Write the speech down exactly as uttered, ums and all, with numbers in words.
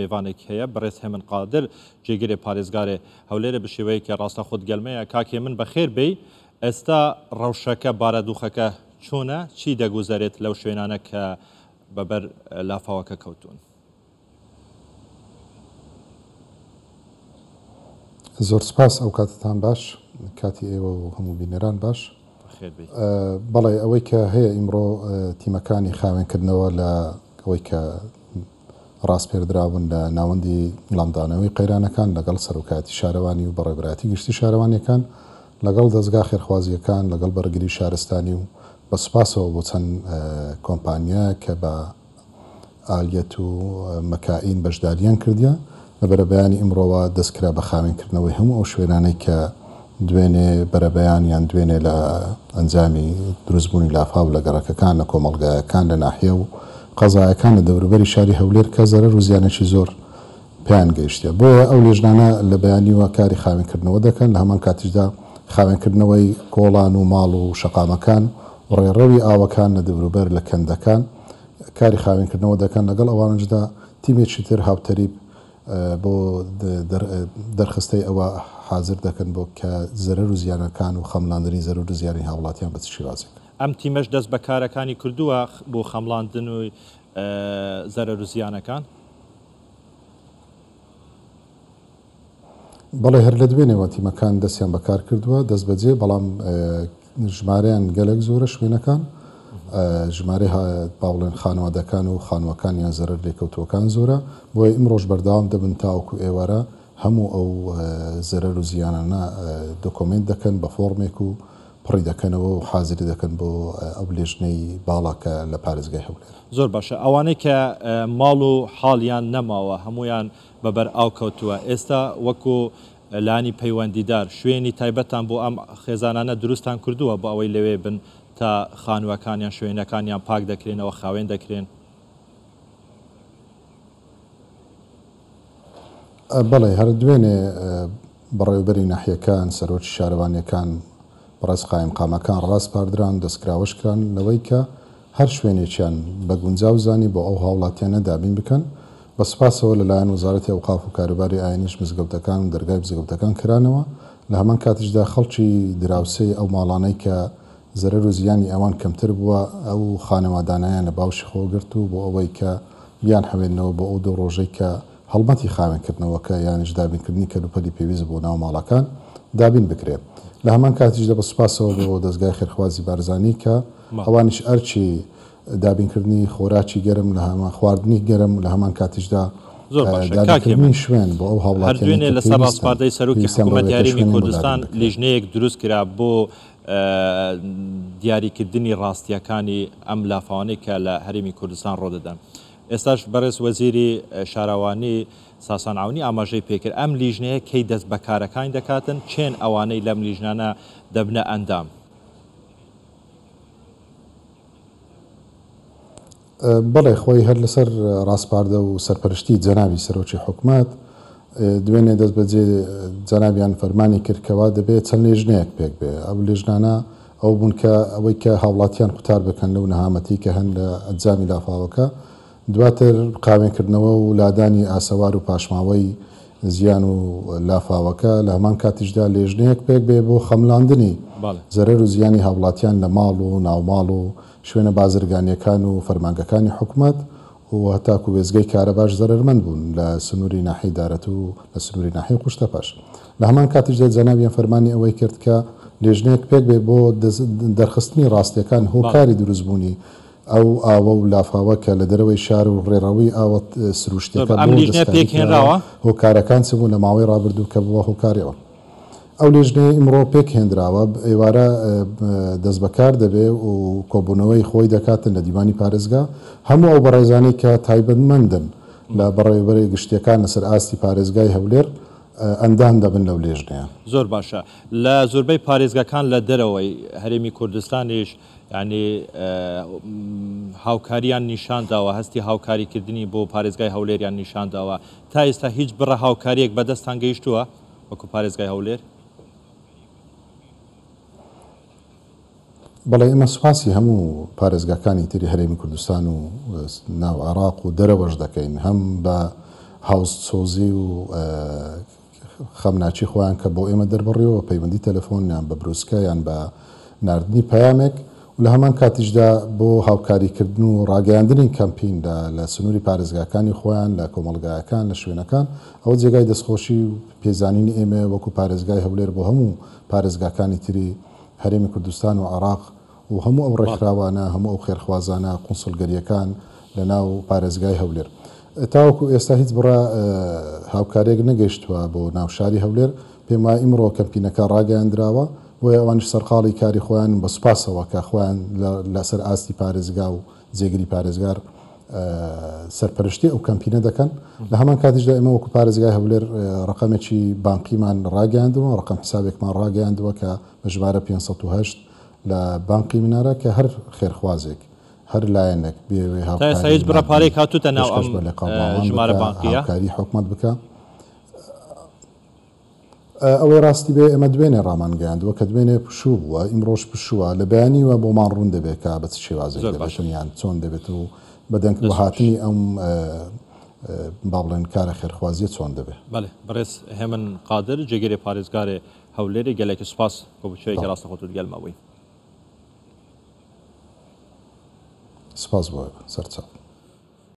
میوانێک هەیە بەڕێز هێمن قادر جێگرێ پارێزگارێ هەولێرە بە شێوەیەکی ڕاستە خۆت گەلمەیە. کاک هێمن بەخێر بێی. ئێستا ڕەوشەکە بارەدوخەکە چۆنە؟ چی دەگوزارێت لەو شوێنانە کە بەبەر لافاوەکە کەوتون؟ زۆر سپاس، ئەو کاتتان باش، کاتی ئێوە و هەموو بینەران باش. بەڵێ، ئەوەی کە هەیە ئیمڕۆ تیمەکانی خاوێنکردنەوە لە ئەوەی کە ڕاستپێردراون لە ناوەندی وڵامدانەوەی قەیرانەکان لەگەڵ سەرۆکایەتی شارەوانی و بەڕێوەبەرایەتی گشتی شارەوانیەکان لەگەڵ دەستگا خێرخوازیەکان لەگەڵ بەرگری شارستانی و بە سوپاسەوە بۆ چەند کۆمپانیا کە بە ئالیەت و مەکائین بەشداریان کردیە لە بەرەبەیانی ئیمڕۆوە دەستکرا بە خاوێنکردنەوەی هەموو ئەو شوێنانەی کە دوێنێ بەرەبەیان یان دوێنێ لە ئەنجامی دروستبوونی لافاو لە گەڕەکەکان لە کۆمەڵگایەکان لە ناحیە و قەزایەکان لە دەوروبەری شاری هەولێر کە زەرەر و زیانێکی زۆر پێیان گەیشتە. بۆیە ئەو لێژنانە لە بەیانیوە کاری خاوێنکردنەوە دەکەن، لە هەمان کاتیشدا خاوێنکردنەوەی کۆڵان و ماڵ و شەقامەکان و ڕێڕەوی ئاوەکان لە دەوروبەر لە کەندەکان کاری خاوێنکردنەوە دەکەن. لەگەڵ ئەوانشدا تیمێکی تر هاوتەریب بۆ دەرخستەی ئەوە حاضر دەکەن بۆ کە زەرەر و زیانەکان و خەملاندنی زەرەر و زیانی هاوڵاتیان بە چ شێوازێک. ئەم تیمەش دەست بە کارەکانی کردووە بۆ خەملاندن و زەرەر و زیانەکان؟ بەڵێ، هەر لە دوێنێوە تیمەکان دەستیان بەکار کردووە دەست بەجێ، بەڵام ژمارەیان گەلێک زۆرە شوێنەکان، ژمارەی باوڵێن خانەوادەکان و خانووەکان یان زەرەر لێکەوتووەکان زۆرە. بۆیە ئیمڕۆژ بەردەوام دەبن تاوەکو ئێوارە هەموو ئەو زەرەر و زیانانە دۆکۆمێنت دەکەن بە فۆرمێک و پڕی دەکەنەوە و حازری دەکەن بۆ ئەو لێژنەی باڵا کە لە پارێزگای هەولێر. زۆر باشە. ئەوانەی کە ماڵ و حاڵیان نەماوە هەمویان بەبەر ئاو کەوتووە، ئێستا وەکو لانی پەیوەندیدار شوێنی تایبەتان بۆ ئەم خێزانانە دروستان کردووە بۆ ئەوەی لەوێ بن تا خانووەکانیان شوێنەکانیان پاک دەکرێنەوە خاوێن دەکرێن؟ بەڵێ، هەر دوێنێ بەڕێوەبەری ناحیەکان، سەرۆکی شارەوانیەکان، بەڕێز قایمقامەکان ڕاسپاردران، دەستکراوەش کران لەوەی کە هەر شوێنێکیان بە گونجاو زانی بۆ ئەو هاوڵاتیانە دابین بکەن. بە سوپاسەوە لەلایەن وەزارەتی ئەوقاف و کاروباری ئاینیش مزگەوتەکان و دەرگای مزگەوتەکان کرانەوە. لە هەمان کاتیشدا خەڵکی دراوسێی ئەو ماڵانەی کە زەرەر و زیانی ئەوان کەمتر بووە ئەو خانەوادانیان لە باوشی خۆگرت و بۆ ئەوەی کە بیان حەوێنەوە بۆ ئەو دوو ڕۆژەی کە هەڵمەتی خاوێنکردنەوەکە یانیش دابینکردنی کەلوپەلی پێویست بۆ ناو ماڵەکان دابین بکرێت. لە هەمان کاتیشدا بە سوپاسەوە بۆ دەستگای خێرخوازی بارزانی کە ئەوانیش ئەرچی دابینکردنی خۆراکی گەرم لە هەمان خواردنی گەرم لە هەمان کاتیشدا دابینکردنی شوێن بۆ ئەو هاوڵاتیانەی هەر دوێنێ لەسەر ڕاسپاردەی سەرۆکی حکوومەتی هەرێمی کوردستان لیژنەیەک دروست کرا بۆ دیاریکردنی ڕاستیەکانی ئەم لافاوانەی کە لە هەرێمی کوردستان ڕۆدەدەن. ئێستاش بەڕێز وەزیری شارەوانی ساسان عەونی ئاماژەی پێکرد ئەم لیژنەیە کەی دەست بە کارەکانی دەکاتن، چێن ئەوانەی لەم لیژنانە دەبنە ئەندام؟ بەڵێ، خۆی هەر لەسەر ڕاسپاردە و سەرپەرشتی جەنابی سەرۆکی حکومەت دوێنێ دەست بەجێ جەنابیان فەرمانی کرد کەوا دەبێت چەند لێژنەیەک پێک بێ. ئەو لێژنانە ئەو بوون کە ئەوەی کە هاوڵاتیان قوتار بکەن لەو نەهامەتی کە هەن لە ئەنجامی لافاوەکە، دواتر قاوێنکردنەوە و لادانی ئاسەوار و پاشماوەی زیان و لافاوەکە. لە هەمان کاتیشدا لێژنەیەک پێک بێ بۆ خەملاندنی زەرەر و زیانی هاوڵاتیان لە ماڵ و ناوماڵ و شوێنە بازرگانیەکان و فەرمانگەکانی حکومەت و هەتاکو وێزگەی کارەباش زەرەرمەند بوون لە سنووری ناحیەی دارەت و لە سنووری ناحیەی قوشتەپەش. لە هەمان کاتیشدا جەنابیان فەرمانی ئەوەی کرد کە لێژنەیەک پێک بێ بۆ دەرخستنی ڕاستیەکان هۆکاری دروستبوونی ئەو ئاوە و لافاوە کە لە دەرەوەی شار و ڕێڕەوی ئاوە سروشتەکە ئەم لیژنە پێکهێنراوە، هۆکارەکان چ بوون لە ماوەی ڕابردوو کە بووە هۆکاریەوە. ئەو لێژنەیە ئیمڕۆ پێکهێنراوە، ئێوارە دەست بەکار دەبێ و کۆبوونەوەی خۆی دەکاتن لە دیوانی پارێزگا. هەموو ئەو بەڕێزانەی کە تایبەتمەندن لە بەڕێوەبەری گشتیەکان لەسەر ئاستی پارێزگای هەولێر ئەندام دەبن لەو لێژنەیە. زۆر باشە. لە زۆربەی پارێزگاکان لە دەرەوەی هەرێمی کوردستانیش یعنی هاوکاریان نیشانداوە، هەستی هاوکاریکردنی بۆ پارێزگای هەولێریان نیشانداوە. تا ئێستا هیچ بڕە هاوکاریەک بەدەستان گەیشتووە وەکو پارێزگای هەولێر؟ بەڵێ، ئێمە سوپاسی هەموو پارێزگاکانی تری هەرێمی کوردستان و ناو عێراق و دەرەوەش دەکەین، هەم بە هاوسۆزی و خەمناکی خۆیان کە بۆ ئێمە دەربڕیەوە پەیوەندی تەلەفۆن یان بە بروسکە یان بە ناردنی پەیامێک و لە هەمان کاتیشدا بۆ هاوکاریکردن و ڕاگەیاندنی کەمپین لە سنووری پارێزگاکانی خۆیان لە کۆمەڵگایەکان لە شوێنەکان ئەوە جێگای دەستخۆشی و پێزانینی ئێمە وەکو پارێزگای هەولێر بۆ هەموو پارێزگاکانی تری هەرێمی کوردستان و عێراق و هەموو ئەو ڕێکخراوانە هەموو ئەو خێرخوازانە قونسڵگەریەکان لە ناو پارێزگای هەولێر. تاوەکو ئێستا هیچ بڕە هاوکاریەک نەگەیشتووە بۆ ناو شاری هەولێر. پێم وایە ئیمڕۆ کەمپینەکە ڕاگەیاندراوە، بۆیە ئەوانیش سەرقاڵی کاری خۆیان بە سوپاسەوە کە خۆیان لەسەر ئاستی پارێزگا و جێگری پارێزگار سەرپەرشتی ئەو کەمپینە دەکەن. لە هەمان کاتیشدا ئێمە وەکو پارێزگای هەولێر ڕقەمێکی بانقیمان ڕاگەیاندووە، ڕقم حسابێکمان ڕاگەیاندووە کە بە ژمارە پێنج سەد و هەشت لە بانقی منارە کە هەر خێرخوازێک هەر لایەنێک بێوێ هاوکاری هیچ بڕە پارەیەک هاتووتە ناو ئەم ژمارە بانقیە هاوکاری حکومەت بکە. ئەوەی ڕاستی بێ ئێمە دوێنێ ڕامانگەیاندووە کە دوێنێ پشوو بووە، ئیمڕۆژ پشووە، لە بەیانیوە بۆمان ڕوون دەبێت کە بە چ شێوازێک دەبێتن یان چۆن دەبێت و بەدەنگ هاتنی ئەم با بڵێن کارە خێرخوازیە چۆن دەبێت. بەڵێ بەڕێز هێمن قادر جێگیری پارێزگاری هەولێری گەلێکی سوپاس بۆ بچوویەکی ڕاستەخۆت گەلما بووی. سپاس بۆ سەرچاو.